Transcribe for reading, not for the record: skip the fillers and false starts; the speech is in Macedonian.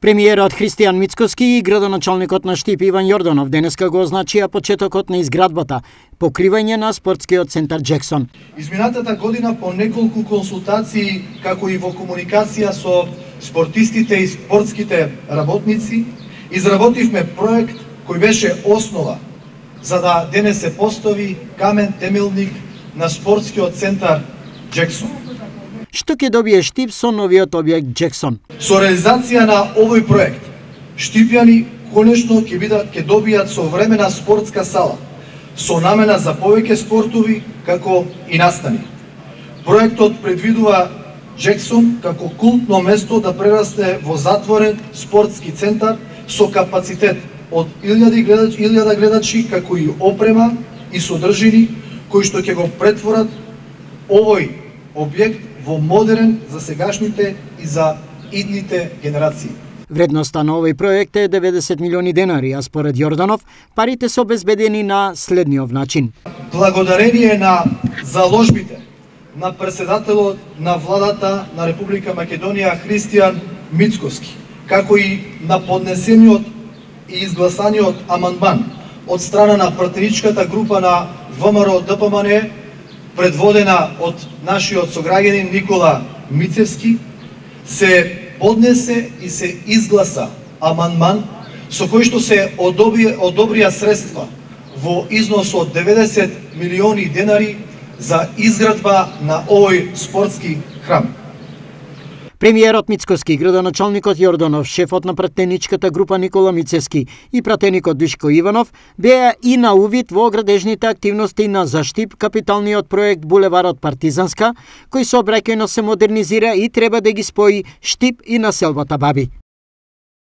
Премиерот Христијан Мицкоски и градоначалникот на Штип Иван Јорданов денеска го означија почетокот на изградбата, покривање на спортскиот центар Джексон. Изминатата година по неколку консултации, како и во комуникација со спортистите и спортските работници, изработивме проект кој беше основа за да денес се постави камен темелник на спортскиот центар Джексон. Што ќе добие Штип со новиот објект Джексон? Со реализација на овој проект, штипјани конечно ќе добијат современа спортска сала, со намена за повеќе спортови, како и настани. Проектот предвидува Джексон како култно место да прерасте во затворен спортски центар со капацитет од 1000 гледачи, како и опрема и содржини, кои што ќе го претворат овој објект во модерен за сегашните и за идните генерации. Вредноста на овој проект е 90 милиони денари, а според Јорданов, парите се обезбедени на следниот начин. Благодарение на заложбите на председателот на владата на Република Македонија Христијан Мицкоски, како и на поднесениот и изгласаниот амандман од страна на пратеничката група на ВМРО-ДПМН, предводена од нашиот сограѓанин Никола Мицевски, се поднесе и се изгласа амандман со кој што се одобрија средства во износ од 90 милиони денари за изградба на овој спортски храм. Премиерот Мицкоски, градоначалникот Јорданов, шефот на пратеничката група Никола Мицевски и пратеникот Душко Иванов беа и на увид во градежните активности на за Штип капиталниот проект Булеварот Партизанска, кој сообраќајно се модернизира и треба да ги спои Штип и населбата Баби.